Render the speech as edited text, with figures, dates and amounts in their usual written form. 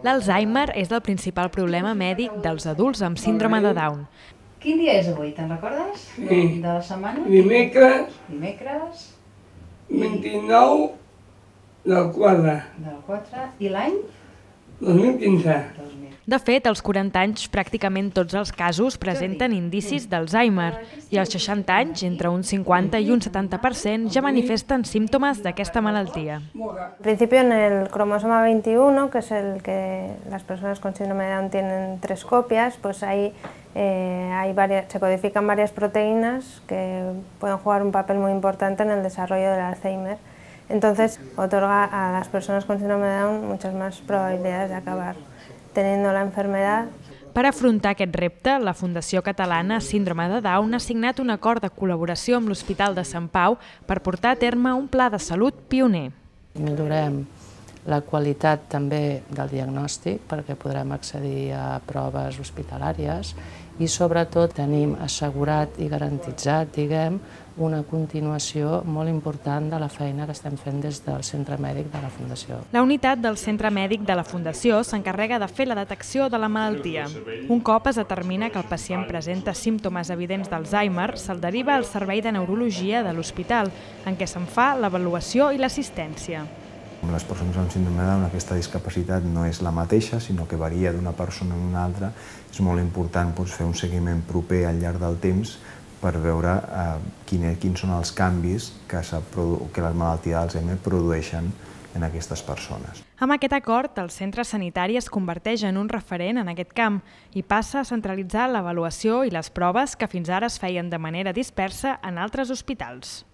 L'Alzheimer és el principal problema mèdic dels adults amb síndrome de Down. Quin dia és avui, te'n recordes? Sí. De la setmana? Dimecres Dimecres 29 del 4, del 4 i l'any? 2015. 2000. De fet, als 40 anys, pràcticament tots els casos presenten indicis d'Alzheimer i als 60 anys, entre un 50 y un 70%, ja manifesten símptomes d'aquesta malaltia. En principio, en el cromosoma 21, que es el que las personas con síndrome de Down tienen 3 copias, pues ahí se codifican varias proteínas que pueden jugar un papel muy importante en el desarrollo del Alzheimer. Entonces, otorga a las personas con síndrome de Down muchas más probabilidades de acabar teniendo la enfermedad. Per afrontar aquest repte, la Fundació Catalana Síndrome de Down ha signat un acord de col·laboració amb l'Hospital de Sant Pau per portar a terme un pla de salut pioner. Millorem la qualitat també del diagnòstic perquè podrem accedir a proves hospitalàries i sobretot tenim assegurat i garantitzat, diguem, una continuació molt important de la feina que estem fent des del Centre Mèdic de la Fundació. La unitat del Centre Mèdic de la Fundació s'encarrega de fer la detecció de la malaltia. Un cop es determina que el pacient presenta símptomes evidents d'Alzheimer, se'l deriva al Servei de Neurologia de l'hospital, en què se'n fa l'avaluació i l'assistència. Amb les persones amb síndrome de Down, aquesta discapacitat no és la mateixa, sinó que varia d'una persona a una altra. És molt important fer un seguiment proper al llarg del temps per veure quins són els canvis que la malaltia d'Alzheimer produeixen en aquestes persones. Amb aquest acord, el centre sanitari es converteix en un referent en aquest camp i passa a centralitzar l'avaluació i les proves que fins ara es feien de manera dispersa en altres hospitals.